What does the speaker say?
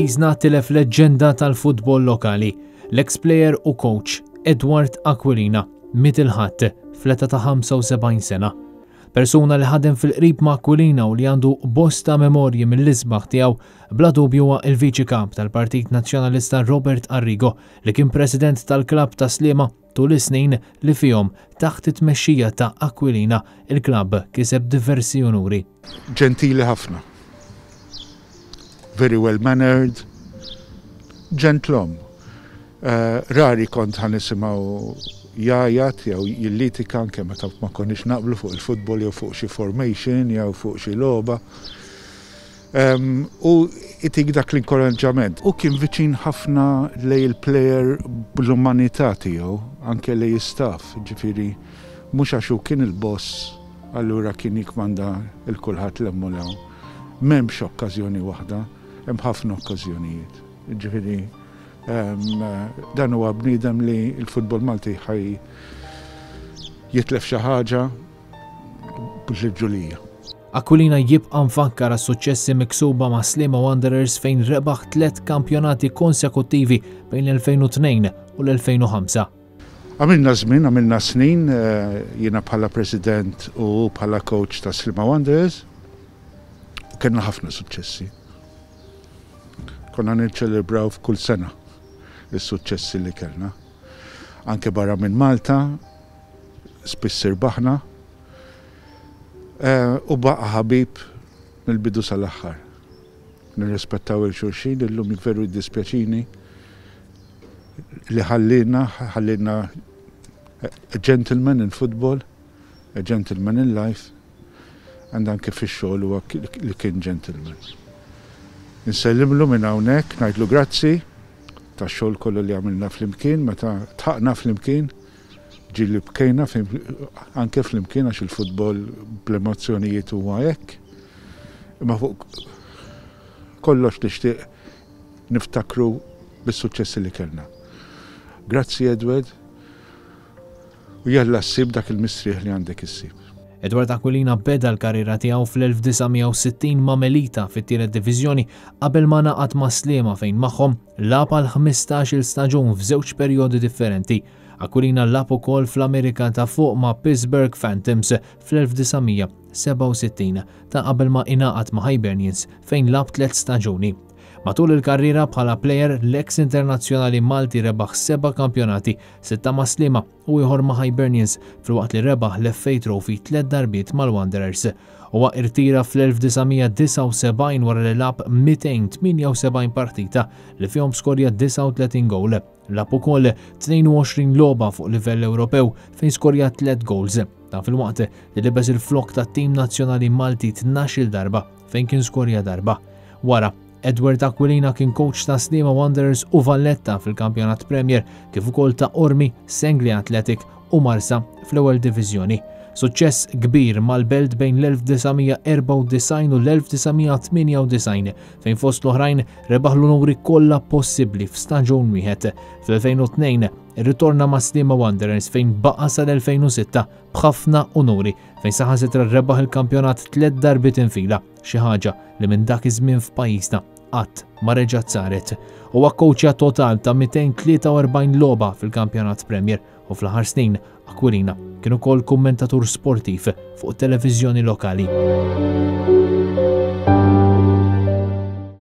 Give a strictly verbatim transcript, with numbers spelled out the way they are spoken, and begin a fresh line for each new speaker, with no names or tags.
Pajjiżna tilef leġġenda tal-futbol lokali, l-ex-player u coach Edward Aquilina, miet il-Ħadd fl-età ta' ħamsa u sebgħin sena. Persuna li ħadem fil-qrib ma' Aquilina u li għandu bosta memorji mill-isbaħ tiegħu bla dubju huwa il-Viċi Kap tal-Partit Nazzjonalista Robert Arrigo, li kien president tal-klabb ta' Sliema tul is-snin li fihom taħt it-tmexxija ta' Aquilina il-klabb kiseb diversi unuri.
Ġentili ħafna. Very well mannered, gentleman. Uh, rari kont ħa nisimgħu jgħajjat jew jillitika, anke meta ma konniex naqblu fuq il-futbol jew fuq xi formation jew fuq xi logħba. Um, u itik dak l-inkoraġġament. U kien viċin ħafna lejn il-player bl-umanità tiegħu, anke lejn staff, ġifieri mhux għax hu kien il-boss, allura kien jikmanda lil kulħadd 'l hemm u 'l hawn. M'hemmx okkażjoni waħda, hemm ħafna okkażjonijiet. Ġifieri um, dan huwa bniedem li l-futbol Malti ħa jitlef xi ħaġa b'ġulija.
Aquilina jibqa' mfakkar għas-suċċessi miksuba ma' Sliema Wanderers, fejn rebaħ tliet kampjonati konsekuttivi bejn l-elfejn u tnejn u l-elfejn u ħamsa.
Għamilna żmien, għamilna snin, eh, jiena bħala president u bħala coach ta' Sliema Wanderers, u kellna ħafna suċċessi. Konna niċċelebraw f'kull sena is-suċċessi li kellna. Anke barra minn Malta, spiss irbaħna, Eh, u baqa ħabib mill-bidu sal-aħħar. Nirrispettaw 'il xulxin, illum veru jiddispjaċini li ħallina, ħallina a gentleman in football, a gentleman in life, and anke fix-xogħol huwa li kien gentleman. Insellimlu minn hawnhekk, ngħidlu grazzi tax-xogħol kollu li għamilna flimkien, meta dħakna flimkien, ġieli bkejna anke flimkien, għax il-futbol bl-emozzjonijiet huwa hekk. Imma fuq kollox nixtieq niftakru bis-suċċessi li kellna. Grazzi, Edward, u jalla ssib dak il-mistrieħ li għandek issib.
Edward Aquilina beda l-karriera tiegħu fl-elf disa' mija u sittin ma' Melita fit-tielet diviżjoni qabel ma ngħaqad ma' Sliema, fejn magħhom lagħab għal ħmistax-il staġun f'żewġ perjodi differenti. Aquilina lagħab ukoll fl-Amerika ta' Fuq ma' Pittsburgh Phantoms fl-elf disa' mija u sebgħa u sittin ta' qabel ma ingħaqad ma' Hibernians, fejn lagħab tliet staġuni. Matul il-karriera bħala player, l-ex internazzjonali Malti rebaħ seba' kampjonati, sitta ma' Sliema u ieħor ma' Hibernians, filwaqt li rebaħ l-F A Trophy tliet darbiet mal-Wanderers. Huwa irtira fl-elf disa' mija u disgħa u sebgħin wara li lagħab mitejn u tmienja u sebgħin partita li fihom skorja disgħa u tletin gowl. Lagħab ukoll tnejn u għoxrin logħba fuq livell Ewropew fejn skorja tliet goals. Dan filwaqt li libes il-flok tat-tim nazzjonali Malti tnax-il darba, fejn kien skorja darba. Wara, Edward Aquilina kien coach ta' Sliema Wanderers u Valletta fil-Kampjonat Premier, kif ukoll ta' Qormi, Senglea Athletic u Marsa fl-ewwel diviżjoni. Suċċess kbir mal-Belt bejn l-elf disa' mija u erbgħa u disgħin u l-elf disa' mija u tmienja u disgħin, fejn fost l-oħrajn rebaħ l-onuri kollha possibbli f'staġun wieħed. Fl-elfejn u tnejn irritorna ma' Sliema Wanderers, fejn baqa' sal-elfejn u sitta b'ħafna unuri, fejn saħansitra rebaħ il-kampjonat tliet darbiet infila, xi ħaġa li minn dak iż-żmien f'pajjiżna qatt ma reġgħet saret. Huwa kowċja total ta' mitejn u tlieta u erbgħin logħba fil-Kampjonat Premier, u fl-aħħar snin Aquilina kien ukoll kummentatur sportiv fuq televiżjoni lokali.